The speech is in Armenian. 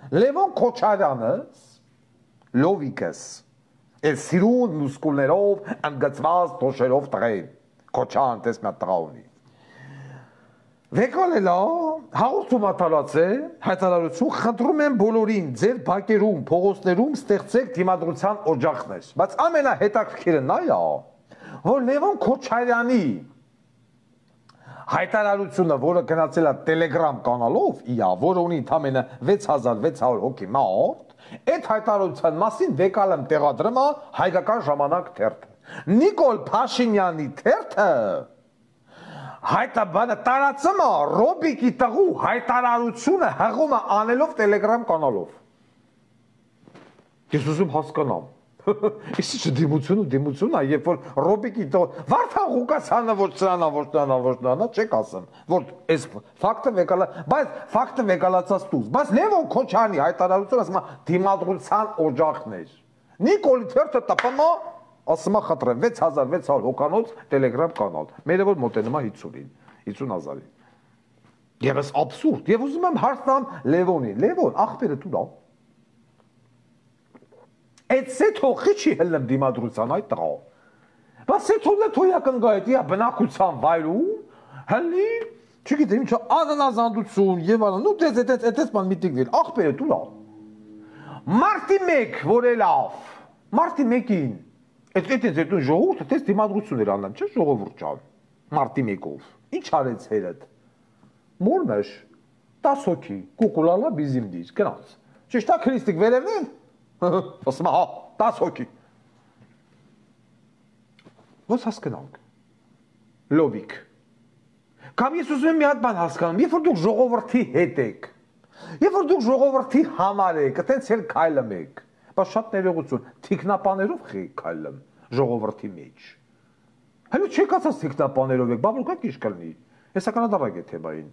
Լևոն Քոչարյանը, Լովիկս, էլ սիրուն մուսկուլներով, ընդգծված դոշերով տղեն, Քոչարն տես մի հատ տղա ունի։ Վեկալելա, հաղորդում ատալած է, հայտարարություն, խնդրում եմ բոլորին, ձեր բակերում, փողոցներում ստեղծեք դիմադրության օջախներ, բայց ամենահետաքրքիրը նա է, որ Լևոն Քոչարյանի հայտարարությունը, որը գնացել է Telegram կանալով, որը ունի ընդամենը 6600 հոգի մարդ, այդ հայտարարության մասին վեկալեմ տեղադրում է Հայկական ժամանակ թերթը։ Նիկոլ Փաշինյանի թերթը հայտաբանը տարածում է Ռոբիկի տղու հայտարարությունը հղում է անելով Telegram կանալով։ Ես ուզում հասկանամ։ Իսկ դիմություն է, երբ որ Ռոբիկի Վարդան Ղուկասյանը ոչ նրան, չեք ասեմ, որ այս ֆակտը վեկալա, բայց ֆակտը վեկալացած դուզ, բայց Լևոն Քոչարյանի հայտարարությունը ասում է դիմադրության օջախներ։ Նիկոլի թերթը տպում է, ասում է խնդրեմ 6600 հոկանոց Telegram կանալ, մերը որ մոտենում է 50,000-ին։ Եվս աբսուրդ, եւ ուզում եմ հարց տամ Լևոնին, Լևոն, ախպերը դու լավ։ Այդ սեթողի չի հլնեմ դիմադրության այդ տղա։ Բայց սեթողը թոյական գայտի բնակության վայրում հլնի, չգիտեմ ինչ անանազանդություն եւ այլն, ու դες բան միտիկ դել, ախպերը դու լավ։ Մարտի 1, որ է լավ։ Մարտի 1-ին այդ ժողովուրդը դες դիմադրություն էր անում, չէ՞ ժողովուրդ ջան։ Մարտի 1-ով։ Ինչ արեց հերդ։ Մորմեշ 10 հոգի, կուկուլալա բիզիմդից, գնաց։ Ճիշտ է քրիստիկ վերևն ասում է, 10 հոգի։ Ոնց հասկանանք։ Լովիկ։ Կամ ես ուզում եմ մի հատ բան հասկանում, երբ որ դուք ժողովրդի հետ եք, երբ որ դուք ժողովրդի համար եք, այտենց էլ քայլում եք, բայց շատ ներողություն, թիկնապաներով քայլում ժողովրդի մեջ։ Հələ չեք ասած թիկնապաներով եք, բա որ կա քիչ կլինի։ Հեսականադարակ է թեմային։